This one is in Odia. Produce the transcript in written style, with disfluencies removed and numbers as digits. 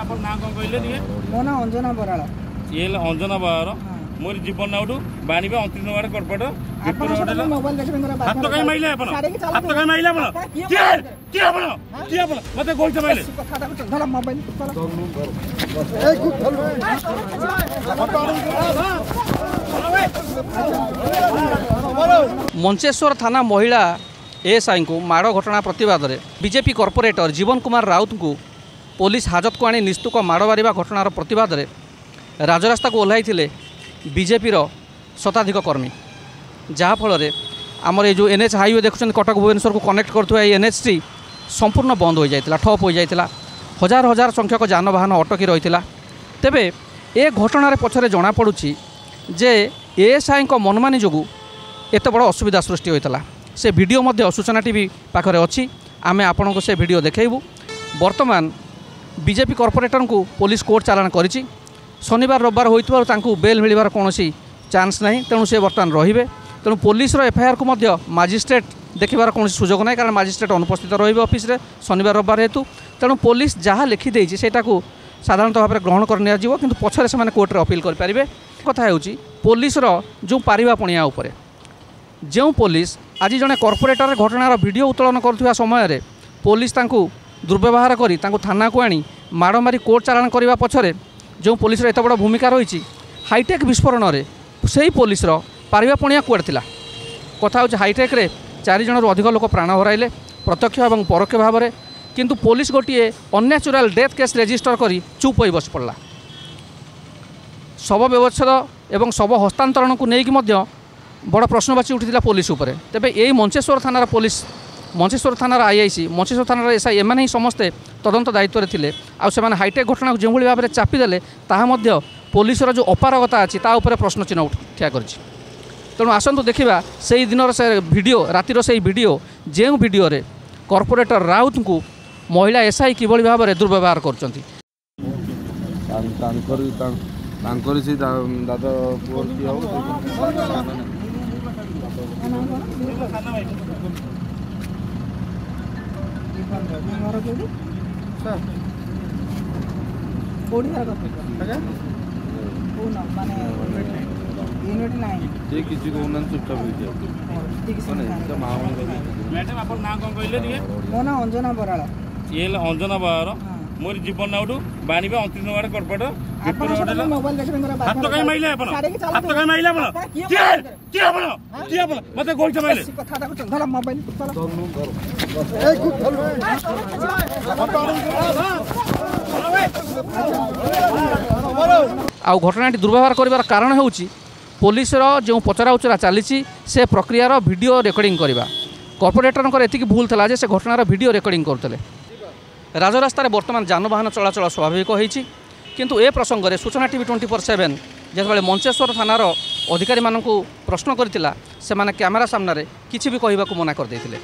ଆପଣ ନାଁ କ'ଣ କହିଲେ ଟିକେ? ମୋ ନାଁ ଅଞ୍ଜନା ବରାଳ। ଇଏ ହେଲେ ଅଞ୍ଜନା ବରାଳ, ମୋର ଜୀବନ ନାଉଠୁ ବାଣିବା 29 ନମ୍ବର କର୍ପୋରେଟର। ହାତ କାଇଁ ମାଇଲେ ଆପଣ? ହାତ କାଇଁ ମାଇଲେ ଆପଣ? କିଏ କିଏ ଆପଣ? କିଏ ଆପଣ? ମତେ ଗୋଇଠା ମାଇଲେ। ମଞ୍ଚେଶ୍ୱର ଥାନା ମହିଳା ଏଏସ୍ଆଇଙ୍କୁ ମାଡ଼ ଘଟଣା ପ୍ରତିବାଦରେ ବିଜେପି କର୍ପୋରେଟର ଜୀବନ କୁମାର ରାଉତଙ୍କୁ ପୋଲିସ ହାଜତକୁ ଆଣି ନିସ୍ତୁକ ମାଡ଼ ମାରିବା ଘଟଣାର ପ୍ରତିବାଦରେ ରାଜରାସ୍ତାକୁ ଓହ୍ଲାଇଥିଲେ ବିଜେପିର ଶତାଧିକ କର୍ମୀ। ଯାହାଫଳରେ ଆମର ଏ ଯେଉଁ ଏନ୍ ଏଚ୍ ହାଇୱେ ଦେଖୁଛନ୍ତି, କଟକ ଭୁବନେଶ୍ୱରକୁ କନେକ୍ଟ କରୁଥିବା ଏଇ ଏନ୍ଏଚ୍ଟି ସମ୍ପୂର୍ଣ୍ଣ ବନ୍ଦ ହୋଇଯାଇଥିଲା, ଠପ୍ ହୋଇଯାଇଥିଲା। ହଜାର ହଜାର ସଂଖ୍ୟକ ଯାନବାହନ ଅଟକି ରହିଥିଲା। ତେବେ ଏ ଘଟଣାରେ ପଛରେ ଜଣାପଡ଼ୁଛି ଯେ ଏଏସ୍ଆଇଙ୍କ ମନମାନି ଯୋଗୁଁ ଏତେ ବଡ଼ ଅସୁବିଧା ସୃଷ୍ଟି ହୋଇଥିଲା। ସେ ଭିଡ଼ିଓ ମଧ୍ୟ ସୂଚନା ଟିଭି ପାଖରେ ଅଛି, ଆମେ ଆପଣଙ୍କୁ ସେ ଭିଡ଼ିଓ ଦେଖାଇବୁ। ବର୍ତ୍ତମାନ ବିଜେପି କର୍ପୋରେଟରଙ୍କୁ ପୋଲିସ କୋର୍ଟ ଚାଲାଣ କରିଛି। ଶନିବାର ରବିବାର ହୋଇଥିବାରୁ ତାଙ୍କୁ ବେଲ୍ ମିଳିବାର କୌଣସି ଚାନ୍ସ ନାହିଁ, ତେଣୁ ସେ ବର୍ତ୍ତମାନ ରହିବେ। ତେଣୁ ପୋଲିସର ଏଫଆଇଆର୍କୁ ମଧ୍ୟ ମାଜିଷ୍ଟ୍ରେଟ୍ ଦେଖିବାର କୌଣସି ସୁଯୋଗ ନାହିଁ, କାରଣ ମାଜିଷ୍ଟ୍ରେଟ୍ ଅନୁପସ୍ଥିତ ରହିବେ ଅଫିସରେ ଶନିବାର ରବିବାର ହେତୁ। ତେଣୁ ପୋଲିସ ଯାହା ଲେଖିଦେଇଛି ସେଇଟାକୁ ସାଧାରଣତଃ ଭାବରେ ଗ୍ରହଣ କରିନିଆଯିବ, କିନ୍ତୁ ପଛରେ ସେମାନେ କୋର୍ଟରେ ଅପିଲ୍ କରିପାରିବେ। କଥା ହେଉଛି ପୋଲିସର ଯେଉଁ ପାରିବା ପଣିଆ ଉପରେ, ଯେଉଁ ପୋଲିସ ଆଜି ଜଣେ କର୍ପୋରେଟର ଘଟଣାର ଭିଡ଼ିଓ ଉତ୍ତୋଳନ କରୁଥିବା ସମୟରେ ପୋଲିସ ତାଙ୍କୁ ଦୁର୍ବ୍ୟବହାର କରି ତାଙ୍କୁ ଥାନାକୁ ଆଣି ମାଡ଼ ମାରି କୋର୍ଟ ଚାଲାଣ କରିବା ପଛରେ ଯେଉଁ ପୋଲିସର ଏତେ ବଡ଼ ଭୂମିକା ରହିଛି, ହାଇଟେକ୍ ବିସ୍ଫୋରଣରେ ସେଇ ପୋଲିସର ପାରିବା ପଣିଆ କୁଆଡ଼େ ଥିଲା? କଥା ହେଉଛି ହାଇଟେକ୍ରେ 4 ଜଣରୁ ଅଧିକ ଲୋକ ପ୍ରାଣ ହରାଇଲେ ପ୍ରତ୍ୟକ୍ଷ ଏବଂ ପରୋକ୍ଷ ଭାବରେ, କିନ୍ତୁ ପୋଲିସ ଗୋଟିଏ ଅନ୍ୟାଚୁରାଲ୍ ଡେଥ୍ କେସ୍ ରେଜିଷ୍ଟର କରି ଚୁପ୍ ହୋଇ ବସି ପଡ଼ିଲା। ଶବ ବ୍ୟବଚ୍ଛେଦ ଏବଂ ଶବ ହସ୍ତାନ୍ତରଣକୁ ନେଇକି ମଧ୍ୟ ବଡ଼ ପ୍ରଶ୍ନବାଚୀ ଉଠିଥିଲା ପୋଲିସ ଉପରେ। ତେବେ ଏଇ ମଞ୍ଚେଶ୍ୱର ଥାନାର ପୋଲିସ, ମଞ୍ଚେଶ୍ୱର ଥାନାର ଆଇଆଇସି, ମଞ୍ଚେଶ୍ୱର ଥାନାର ଏସ୍ଆଇ, ଏମାନେ ହିଁ ସମସ୍ତେ ତଦନ୍ତ ଦାୟିତ୍ୱରେ ଥିଲେ। ଆଉ ସେମାନେ ହାଇଟେକ୍ ଘଟଣାକୁ ଯେଉଁଭଳି ଭାବରେ ଚାପିଦେଲେ ତାହା ମଧ୍ୟ ପୋଲିସର ଯେଉଁ ଅପାରଗତା ଅଛି ତା ଉପରେ ପ୍ରଶ୍ନ ଚିହ୍ନ ଠିଆ କରିଛି। ତେଣୁ ଆସନ୍ତୁ ଦେଖିବା ସେଇ ଦିନର ସେ ଭିଡ଼ିଓ, ରାତିର ସେଇ ଭିଡ଼ିଓ, ଯେଉଁ ଭିଡ଼ିଓରେ କର୍ପୋରେଟର ରାଉତଙ୍କୁ ମହିଳା ଏସ୍ଆଇ କିଭଳି ଭାବରେ ଦୁର୍ବ୍ୟବହାର କରୁଛନ୍ତି। ତାଙ୍କରି ସେଇ ଦାଦା ପୁଅ କିଏ ହବ? ଘର କୋଉଠି? କୋଉଠି ଘର? ମାନେ ୟୁନିଟ୍ 9। ସେ କିଛି କହୁନାହାନ୍ତି, ଚୁପଚାପ ହେଇଛି। ମ୍ୟାଡ଼ାମ୍ ଆପଣ ନାଁ କ'ଣ କହିଲେ ଟିକେ? ମୋ ନାଁ ଅଞ୍ଜନା ବରାଳ। ଇଏ ହେଲେ ଅଞ୍ଜନା ବରାଳ, ମୋର ଜୀବନ ନାଉଠୁ ବାଣିବା 29 ନମ୍ବର କର୍ପୋରେଟର। ହାତ କାଇଁ ମାଇଲେ ଆପଣ? ହାତ କାଇଁ ମାଇଲେ ଆପଣ? କିଏ କିଏ ଆପଣ? କିଏ ଆପଣ? ମତେ ଗୋଇଠା ମାଇଲେ। ଆଉ ଘଟଣାଟି ଦୁର୍ବ୍ୟବହାର କରିବାର କାରଣ ହେଉଛି ପୋଲିସର ଯେଉଁ ପଚରା ଉଚରା ଚାଲିଛି ସେ ପ୍ରକ୍ରିୟାର ଭିଡ଼ିଓ ରେକର୍ଡ଼ିଂ କରିବା। କର୍ପୋରେଟରଙ୍କର ଏତିକି ଭୁଲ ଥିଲା ଯେ ସେ ଘଟଣାର ଭିଡ଼ିଓ ରେକର୍ଡ଼ିଂ କରୁଥିଲେ। ରାଜରାସ୍ତାରେ ବର୍ତ୍ତମାନ ଯାନବାହନ ଚଳାଚଳ ସ୍ୱାଭାବିକ ହୋଇଛି, କିନ୍ତୁ ଏ ପ୍ରସଙ୍ଗରେ ସୂଚନା ଟିଭି 24/7 ଯେତେବେଳେ ମଞ୍ଚେଶ୍ୱର ଥାନାର ଅଧିକାରୀମାନଙ୍କୁ ପ୍ରଶ୍ନ କରିଥିଲା, ସେମାନେ କ୍ୟାମେରା ସାମ୍ନାରେ କିଛି ବି କହିବାକୁ ମନା କରିଦେଇଥିଲେ।